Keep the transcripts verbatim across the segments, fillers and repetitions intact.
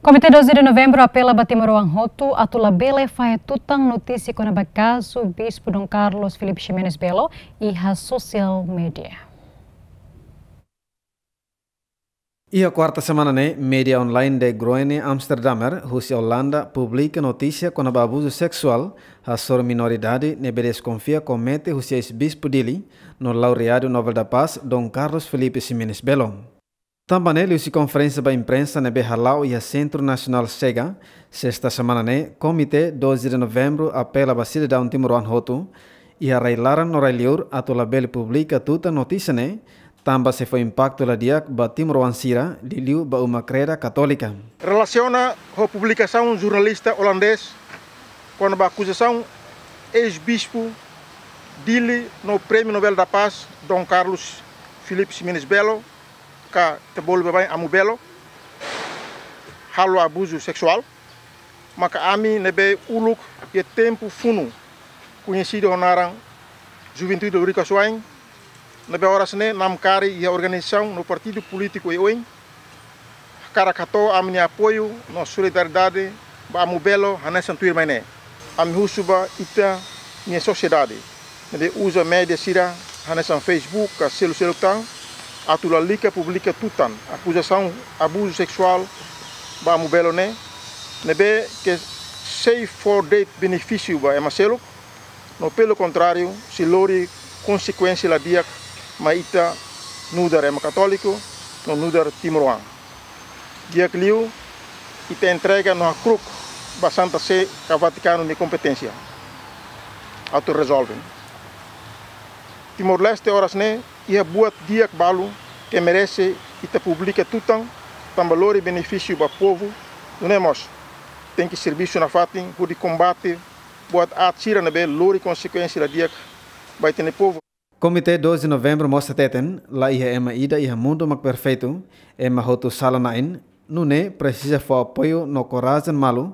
Komité doze de Novembro apela ba timoroan hotu atu labele fahe tutan notísia kona-ba kazu Bispu Dom Carlos Filipe Ximenes Belo iha sosiál media. Iha kuarta semana ne'e, media online De Groene Amsterdammer, husi Olanda, publika notísia kona-ba abuzu seksuál hasoru minoridade ne'ebé deskonfia komete husi eis-bispu Dili no laureadu Nobel da Paz, Dom Carlos Filipe Ximenes Belo. Tanba ne'e, liuhusi konferénsia ba imprensa ne'ebé hala'o iha Sentru Nasionál Chega, sesta semana ne'e, Komité doze de Novembro apela ba sidadaun timoroan hotu, iha rai-laran no rai-liur, atu labele publika tutan notísia ne'e, tanba sei fó impaktu la di'ak ba timoroan sira, liuliu ba uma kreda katólika. Relasiona ho publikasaun jornalista olandés kona-ba akuzasaun eis-bispu Dili no Prémiu Nobel da Paz, Dom Carlos Filipe Ximenes Belo, ka ita bolu baibain Amu Belo, halo abuzu seksuál, maka ami ne'ebé uluk iha tempu funu koñesidu ho naran Juventude Loriku Asuwa'in, ne'ebé oras ne'e namkari iha organizasaun no partidu polítiku oioin, hakarak hato'o ami-nia apoiu no solidariedade ba Amu Belo hanesan tuirmai ne'e. Ami husu ba ita-nia sosiedade ne'ebé uza media sira hanesan Facebook ka selu-seluk tan, atu lalika publika tutan akuzasaun abuzu seksuál ba Amu Belo ne'e, ne'ebé ke sei fó de'it benefísiu ba ema seluk, no pelo kontráriu, sei lori konsekuénsia la di'ak mai ita nu'udar ema katóliku no nu'udar timoroan. Di'ak liu, ita entrega no hakru'uk ba Santa Sé ka Vatikanu nia kompeténsia atu rezolve. Timor-Leste oras ne'e iha buat di'ak balu ke merese ita publika tutan, tanba lori benefísiu ba povu, nune'e mós tenke servisu nafatin hodi kombate buat aat sira ne'ebé lori konsekuénsia la di'ak ba ita-nia povu. Komité doze de Novembro mós hateten, laiha ema ida iha mundu mak perfeitu, ema hotu sala-na'in, nune'e presiza fó apoiu no korajen malu,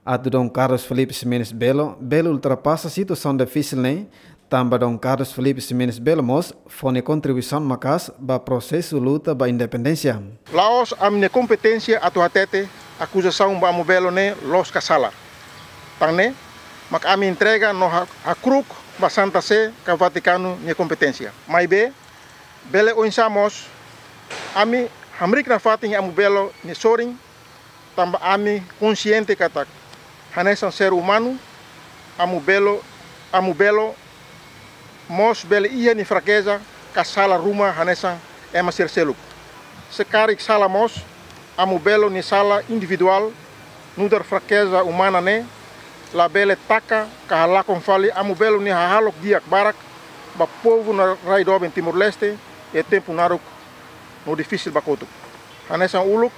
atu Dom Carlos Filipe Ximenes Belo bele ultrapasa situasaun difisil ne'e, tanba Dom Carlos Filipe Ximenes Belo mós fó nia kontribuisaun maka'as ba prosesu luta ba independénsia. La'ós ami-nia kompeténsia atu hatete akuzasaun ba Amu Belo ne'e loos ka sala. Tan ne'e, mak ami entrega no ha-, hakru'uk ba Santa Sé ka Vatikanu nia kompeténsia. Maibé, bele oinsá mós, ami hamriik nafatin Amu Belo nia sorin, tanba ami konsiente katak hanesan ser umanu, Amu Belo, Amu Belo mós bele iha nia frakeza ka sala ruma hanesan ema sira seluk. Se karik sala mós, Amu Belo nia sala individuál nu'udar frakeza umana ne'e labele taka ka halakon fali Amu Belo nia hahalok di'ak barak ba povu no rai doben Timor-Leste iha tempu naruk no difisil ba kotuk. Hanesan uluk,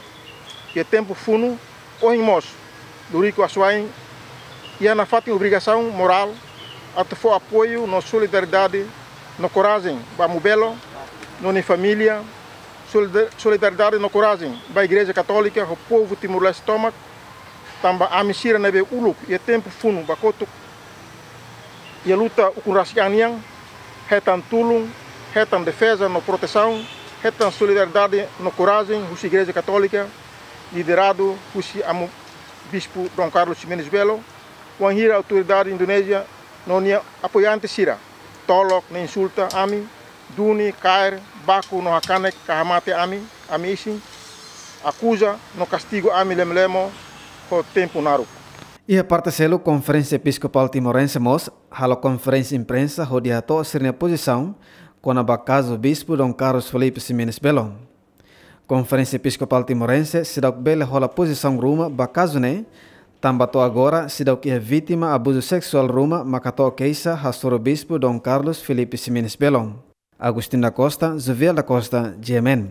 iha tempu funu, ohin mós, Loriku Asuwa'in iha nafatin obrigasaun morál atu fó apoiu no solidariedade no korajen ba Amu Belo no nia família, solida-, solidariedade no korajen ba Igreja Katólika ho povu Timor-Leste tomak, tanba ami sira ne'ebé uluk iha tempu funu ba kotuk iha luta ukun rasik an nian, hetan tulun, hetan defeza no protesaun, hetan solidariedade no korajen husi Igreja Katólika, lideradu husi Amu Bispu Dom Carlos Ximenes Belo, wainhira autoridade Indonézia no nia apoiante sira tolok no insulta ami, duni, kaer, baku no hakanek ka hamate ami, ami isin, akuza no kastigu ami lemo-lemo ho tempu naruk. Iha parte seluk, Konferénsia Episkopál Timorense mós halo konferénsia imprensa hodi hato'o sira-nia pozisaun kona-ba kazu Bispu Dom Carlos Filipe Ximenes Belo. Konferénsia Episkopál Timorense seidauk bele hola pozisaun ruma ba kazu ne'e, tanba to'o agora seidauk iha vítima abuzu seksuál ruma mak hato'o keixa hasoru Bispu Dom Carlos Filipe Ximenes Belo. Agostinho da Costa, Jovial da Costa, G M N.